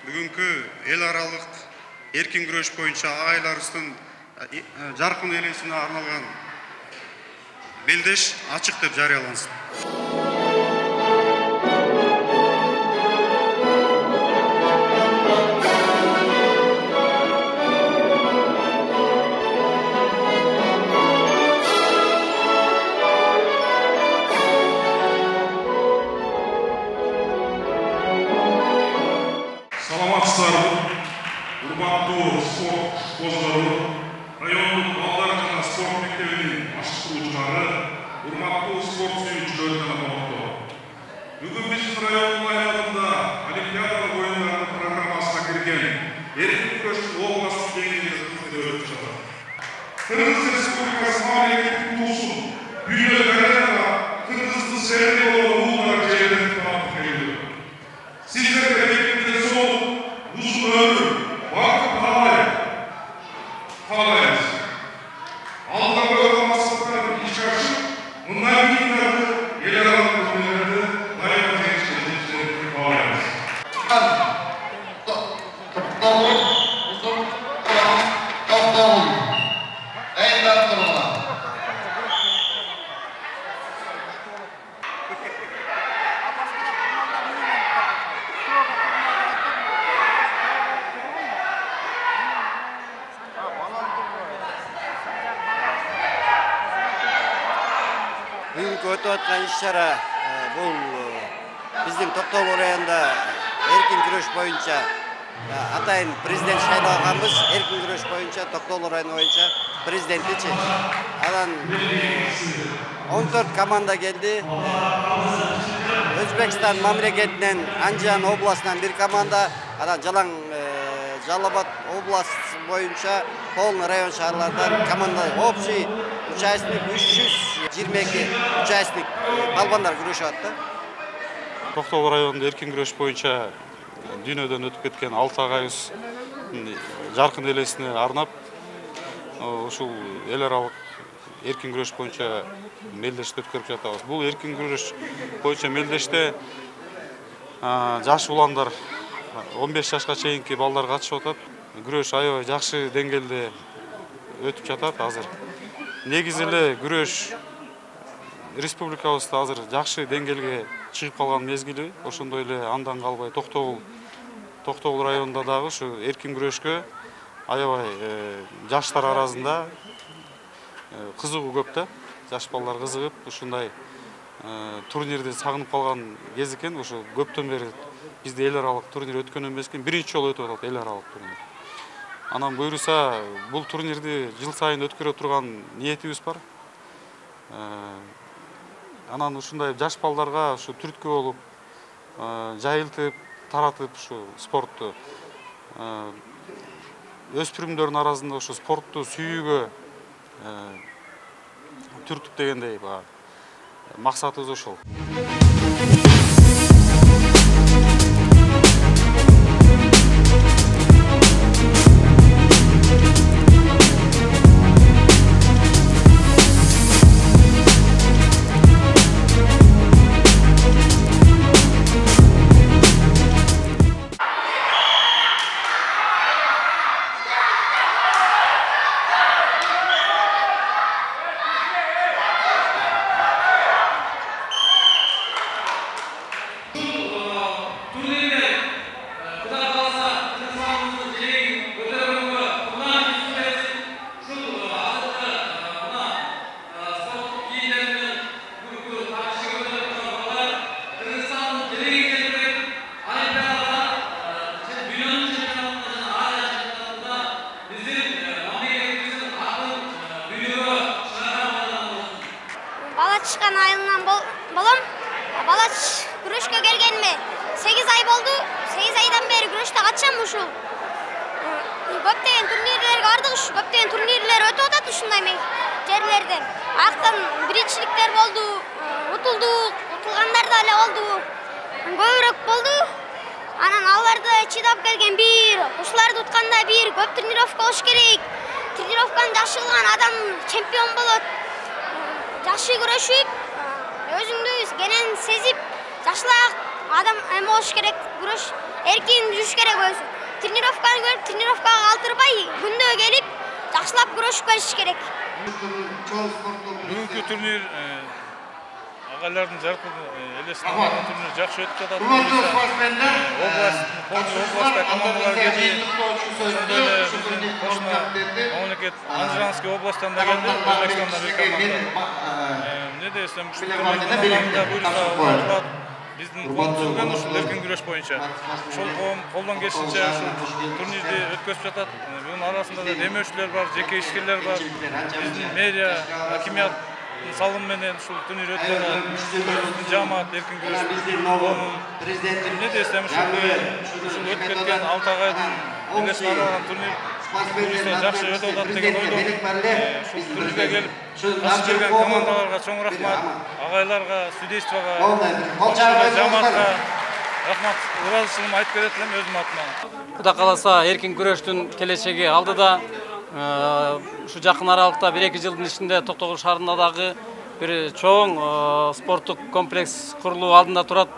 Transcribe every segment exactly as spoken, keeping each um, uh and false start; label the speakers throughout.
Speaker 1: Бүгүнкү эл аралык эркин күрөш боюнча айларыбыздын жаркын элесине арналган белдеш ачык деп жарыялансын.
Speaker 2: Саламатсыздарбы, урматтуу спорт козгору, райондук балдар жана спорт мектебинин башкаруучулары, урматтуу спорт сүйүүчүлөр жана коноктору. Бүгүн биздин райондун аймагында Олимпиада оюндарынын программасына кирген эркин күрөштүн областык деңгээлде өтүп жатат. Кыргыз Республикасы мамлекеттик туусун дүйнөлүк аренада Кыргыздын сэрди болгон уулдар жерден таап келди. Сиздерге uzun ömür, vakit kalamayız. Aldan böyle masraflarını iç açıp, bunlar bilgilerdi, yer alan kızımlardı, daima gençlerimizi kalamayız. Doktorluk, uzun, doktorluk. En doktorluğa.
Speaker 3: Бүгүнкү өтүп аткан иш-чара бул биздин Токтогул районунда эркин күрөш боюнча атайын президент шайлаганбыз. Эркин күрөш боюнча Токтогул району боюнча президентичи. Анан он төрт команда келди. Өзбекстан мамлекетинен Анжан областынан бир команда, анан Жалаң Жалал Абад областы боюнча полный район шаарлардан команда общий участник үч жүз жыйырма эки участник балбандар күрөшүп атты.
Speaker 4: Токтогул районунда эркин күрөш боюнча дүйнөдөн өтүп кеткен алты агайыбыз жаркын элесине арнап ушул эл аралык эркин күрөш боюнча мелдешти өткөрүп жатабыз. Бул эркин күрөш боюнча мелдеште жаш уландар он беш жашка чейинки балдар катышып атат. Күрөш аябай жакшы деңгээлде өтүп жатат азыр. Негизи эле күрөш республикабызда азыр жакшы деңгээлге чыгып калган мезгили. Ошондой эле андан калбай Токтогул Токтогул районунда дагы ушу эркин күрөшкө аябай жаштар арасында кызыгуу көп да. Жаш балдар кызыгып, ушундай турнирди сагынып калган кез экен. Ошо көптөн бери бизде эл аралык турнир өткөн эмес экен. Биринчи жолу өтүп атат эл аралык турнир. Анан буюрса, бул турнирди жыл сайын өткөрө турган ниетибиз бар. Анан ушундай жаш балдарга ушу түрткү болуп, жайылтып, таратып ушу спортту өспүрүмдөрдүн арасында ушу спортту сүйүүгө түртүп дегендей максатыбыз ошол.
Speaker 5: Чыккан айылынан болом. Бала күрөшкө келгениме сегиз ай болду. сегиз айдан бери күрөштө катышам ушул. Көптөгөн турнирлерге бардык, көптөгөн турнирлер өтүп атат ушундай жерлерден. Актан биринчиликтер болду, утулдук, утулгандар да эле болду. Көбүрөөк болду. Анан аларды чыдап келген бир, ушуларды утканда бир көп тренировка болуш керек. Тренировканы жакшы кылган адам чемпион болот. жакшы күрөшүп, өзүңдү кенен сезип, жакшыраак адам эме болуш керек, күрөш эркин жүрүш керек өзү. Тренировканы көрүп, тренировкага калтырбай, күндө келип, жакшылап күрөшүп келиш керек.
Speaker 6: Бүгүнкү турнир агайлардын жаркын элесине алган турнир жакшы өтүп жатат. Область, областта командалар келди. Ошондой эле биздин кошуна мамлекет Анжеранский областтан да келди, Өзбекстандан бир команда. Эмне десем, ушул командаларда буйруса болот. Биздин коом түзүлгөн ушул эркин күрөш боюнча. Ошол коом колдон келишинче ушул турнирди өткөзүп жатат. Бунун арасында да демөөрчүлөр бар, жеке ишкерлер бар. Биздин мэрия, хакимият салым менен ушул турнир өтүп жатат. Биздин жамаат эркин күрөш коомун эмне десем, ушул өтүп кеткен алты агайдын элесине алган турнир буюрса жакшы өтүп атат деген ойдомун. Ушул турнирге келип катышып келген командаларга чоң рахмат, агайларга, судействого, жамаатка рахмат, ыраазычылыгымды айтып берет элем өзүм атыман.
Speaker 7: Кудай кааласа эркин күрөштүн келечеги алдыда. Ушу жакын аралыкта бир эки жылдын ичинде Токтогул шаарында дагы бир чоң спорттук комплекс курулуу алдында турат.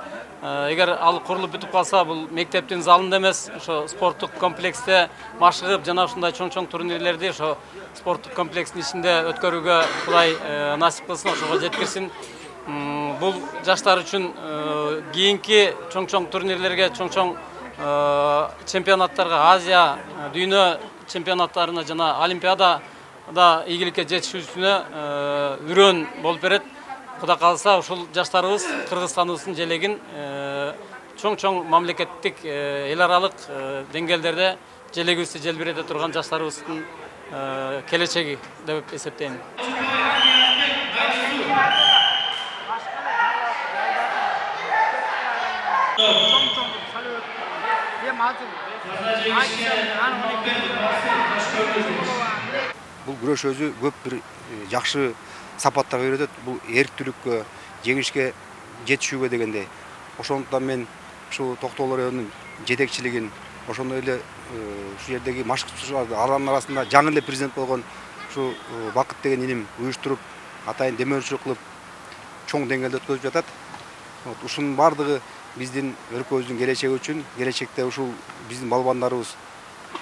Speaker 7: Эгер ал курулуп бүтүп калса, бул мектептин залында эмес, ошо спорттук комплексте машыгып, жана ушундай чоң-чоң турнирлерди ошо спорттук комплекстин ичинде өткөрүүгө Кудай насип кылсын, ошого жеткирсин. Бул жаштар үчүн кийинки чоң-чоң турнирлерге, чоң-чоң чемпионаттарга, Азия, дүйнө чемпионаттарына жана Олимпиадада ийгиликке жетишүүсүнө үрөөн болуп берет. Кудай кааласа, ушул жаштарыбыз Кыргызстаныбыздын желегин чоң-чоң мамлекеттик эл аралык деңгээлдерде желегибизди желбирете турган жаштарыбыздын келечеги деп эсептейм.
Speaker 8: Бул күрөш өзү көп бир жакшы сапаттарга үйрөтөт. Бул эрктүүлүккө, жеңишке жетишүүгө дегендей. Ошондуктан мен ушу Токтогул районунун жетекчилигин, ошондой эле ушу жердеги машыктыучуларды алардын арасында жаңы эле президент болгон ушу Бакыт деген иним уюштуруп, атайын демөөрчүлүк кылып, чоң деңгээлде өткөзүп жатат. Ушунун бардыгы биздин өлкөбүздүн келечеги үчүн, келечекте ушул биздин балбандарыбыз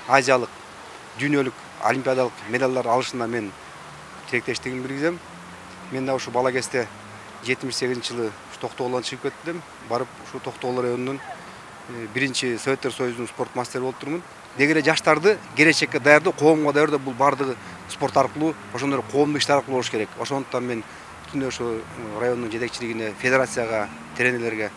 Speaker 8: азиялык, дүйнөлүк, олимпиадалык медалдар алышына мен тилектештигимди билгизем. Мен да ушу бала кезде жетимиш сегизинчи жылы Токтогулдан чыгып кеттим. Барып ушу Токтогул районунун биринчи Советтер Союзунун спорт мастери болуп турмун. Деги эле жаштарды келечекке даярдоо, коомго даярдоо бул бардыгы спорт аркылуу, ошондой коомдук иштер аркылуу болуш керек. Ошондуктан мен бүтүн ошо райондун жетекчилигине, федерацияга, тренерлерге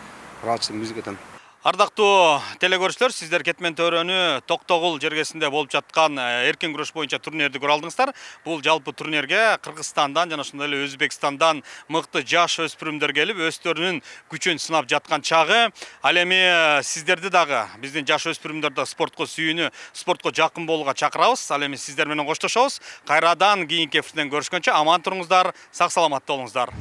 Speaker 8: ыраазычылыгымды билдирип кетем.
Speaker 9: Ардактуу телекөрүүчүлөр, сиздер Кетмен төрөнү Токтогул жергесинде болуп жаткан эркин күрөш боюнча турнирди көрө алдыңыздар. Бул жалпы турнирге Кыргызстандан жана ошондой эле Өзбекстандан мыкты жаш өспүрүмдөр келип, өздөрүнүн күчүн сынап жаткан чагы. Ал эми сиздерди дагы биздин жаш өспүрүмдөрдө спортко сүйүүнү, спортко жакын болууга чакырабыз. Ал эми сиздер менен коштошобуз. Кайрадан кийинки эфирден көрүшкөнчө аман туруңуздар, сак саламатта болуңуздар.